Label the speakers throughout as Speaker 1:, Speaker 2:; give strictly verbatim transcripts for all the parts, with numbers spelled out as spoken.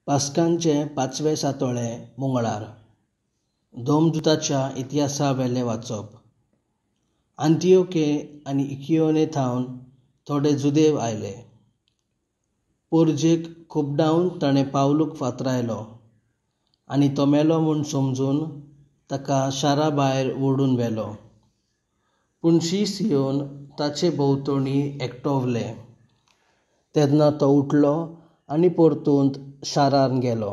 Speaker 1: पास्कांचें पांचवें सातोळें मंगळार. धोमदुताच्या इतिहासा वेलें वाचप. आंतियोके आनी इकियोने थावन थोडे जुदेव आयले. पोरजेक खुबडावन ताणें पावलूक फातरायलो आनी तो मेलो म्हूण समजून ताका शारा भायर ओडून व्हेलो. पूण शीस येवन ताचे भोंवतणी एकटवले. तेन्ना तो उठलो आनी परतून शारांत गेलो.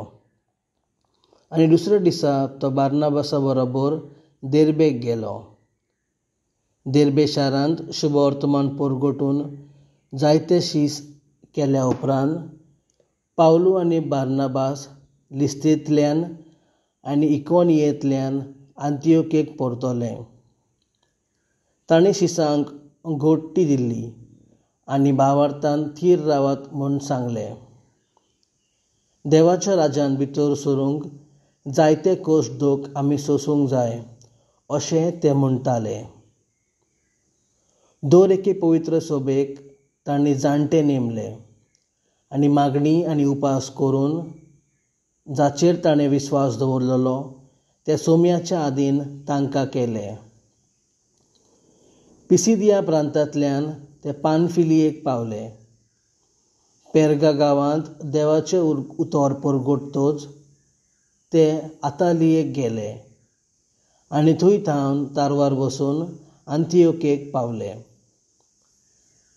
Speaker 1: आनी दुसऱ्या दिसा तो बार्नाबासा बरोबर देर्बेक गेलो. देर्बे शारांत शुभवर्तमान परगटून जायते शीस केल्या उपरांत पावलू आनी बार्नाबास लिस्तेंतल्यान आनी इकोनियेंतल्यान आंतियोकेक परतले. तांणी शिसांक घोडटी दिल्ली आनी भावार्थान थीर रावात म्हूण सांगलें. देवाच्या राज्यान भितर सरूंक जायते कश्ट दोख आमी सोंसूंक जाय अशें ते म्हणटाले. दर एके पवित्र सभेक तांणी जाणटे नेमले आनी मागणी आनी उपास करून जाचेर ताणें विस्वास दवरलेलो त्या सोम्याच्या आदीन तांकां केले. पिसिदिया प्रांतांतल्यान ते पानफिलियेक पावले. पेर्गा गांवांत देवाचें उतर परगटतच ते आतालियेक गेले आनी थंय थावन तारवार बसून आंतियोकेक पावले.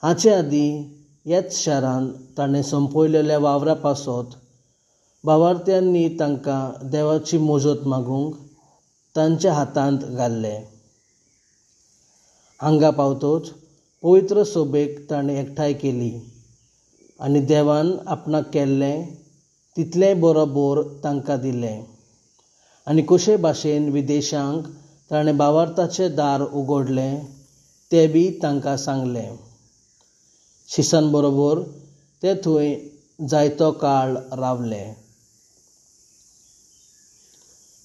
Speaker 1: हाचे आदीं ह्याच शारांत ताणें संपयलेल्या वावरा पासत भावार्थ्यांनी तांकां देवाची मजत मागूंक तांच्या हातांत घाल्ले. हांगा पावतच पवित्र सभेक ताणें एकठांय केली आनी देवान आपणाक केल्लें तितलेंय बरोबर तांकां दिलें आनी कशे भाशेन विदेशांक ताणें भावार्थाचें दार उगडलें तें बी तांकां सांगलें. शिसान बरोबर ते थंय जायतो काळ रावले.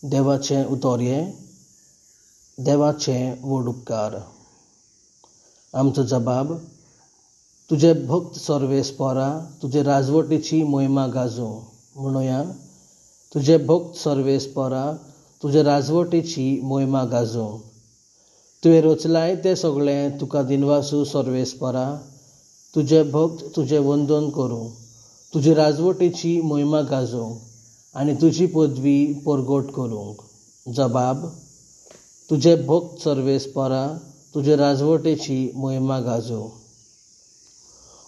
Speaker 1: देवाचें उतर हें, देवाचें व्हड उपकार. आमचो जबाब: तुजे भक्त सर्वेस्परा तुजे राजवटीची मोहिमा गाजोवं. म्हणुया, तुजे भक्त सर्वेस्परा तुजे राजवटीची मोहिमा गाजोवं. तुवें रचलाय तें सगळें तुका दिनवासू सर्वेस्परा. तुजे भक्त तुजें वंदन करूं, तुजे राजवटीची मोहिमा गाजोवंक आनी तुजी पदवी परगट करूंक. जबाब: तुजे भक्त सर्वेस्परा तुजे राजवटीची मोहिमा गाजोवं.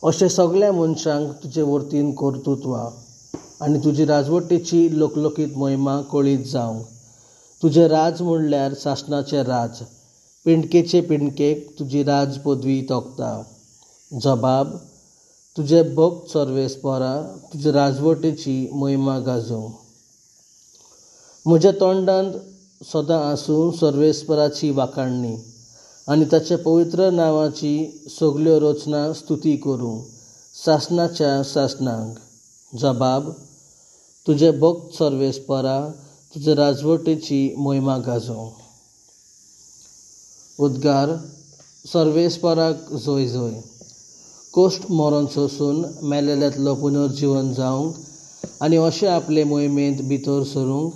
Speaker 1: अशें सगळ्या मनशांक तुजे वरतीन कर्तृत्व आनी तुजी राजवटीची लोकलोकीत मोहिमा कळीत जावंक. तुजें राज म्हणल्यार सासणाचें राज, पिंडकेचे पिंडकेक तुजी राज पदवी तोखता. जबाब: तुजे भक्त सर्वेस्परा तुजे राजवटीची मोहिमा गाजोवं. म्हज्या तोंडांत सदां आसूं सर्वेस्पराची वाखाणणी आनी ताच्या पवित्र नांवाची सगल्यो रचना स्तुती करूं सासणाच्या सासणांक. जबाब: तुजे भक्त सर्वेस्परा तुजे राजवटीची मोहिमा गाजोवं. उद्गार: सर्वेस्पराक जय जय. कश्ट मरण सोंसून मेलेल्यांतलो पुनर्जीवन जावंक आनी अशें आपले मोहिमेंत भितर सरूंक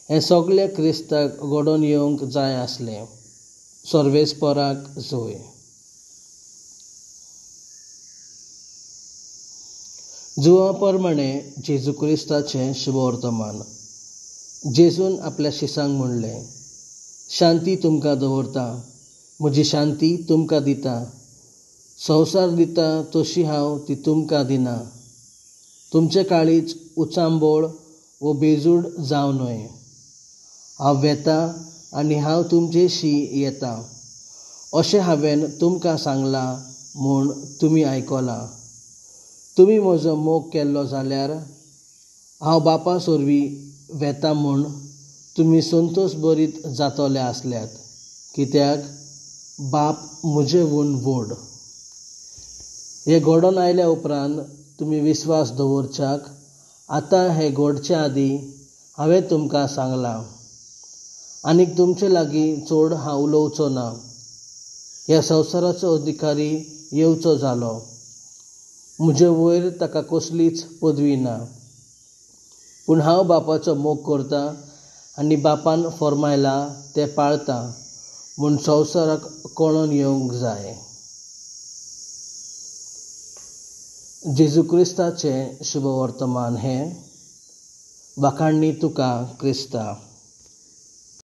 Speaker 1: हें सगळें क्रिस्ताक घडोवन येवंक जाय आसलें. सर्वेस्पराक जय. जुवा प्रमाणे जेजू क्रिस्ताचें शुभवर्तमान. जेजून आपल्या शिसांक म्हणलें, शांती तुमकां दवरता, म्हजी शांती तुमकां दिता. संवसार दिता तशी हांव ती तुमकां दिना. तुमचे काळीज उचांबळ वो बेजूड जावं न्हय. हांव वेता आनी हांव तुमचेशी येता अशें हांवें तुमकां सांगलां म्हूण तुमी आयकलां. तुमी म्हजो मोग केल्लो जाल्यार हांव बापा सोरवीं वेता म्हूण तुमी संतोश बरीत जातले आसल्यात, कित्याक बाप म्हजेहून व्हड. हें घडोवन आयल्या उपरांत तुमी विस्वास दवरच्याक आतां हें घडचे आदीं हांवें तुमकां सांगलां. आनीक तुमचे लागीं चड हांव उलोवचो ना. ह्या संवसाराचो अधिकारी येवचो जालो. म्हजे वयर ताका कसलीच पदवी ना. पूण हांव बापाचो मोग करतां आनी बापान फर्मायलां तें पाळतां म्हूण संवसाराक कळोन येवंक जाय. जेजू क्रिस्ताचें शुभवर्तमान हें. वाखाणणी तुका क्रिस्ता.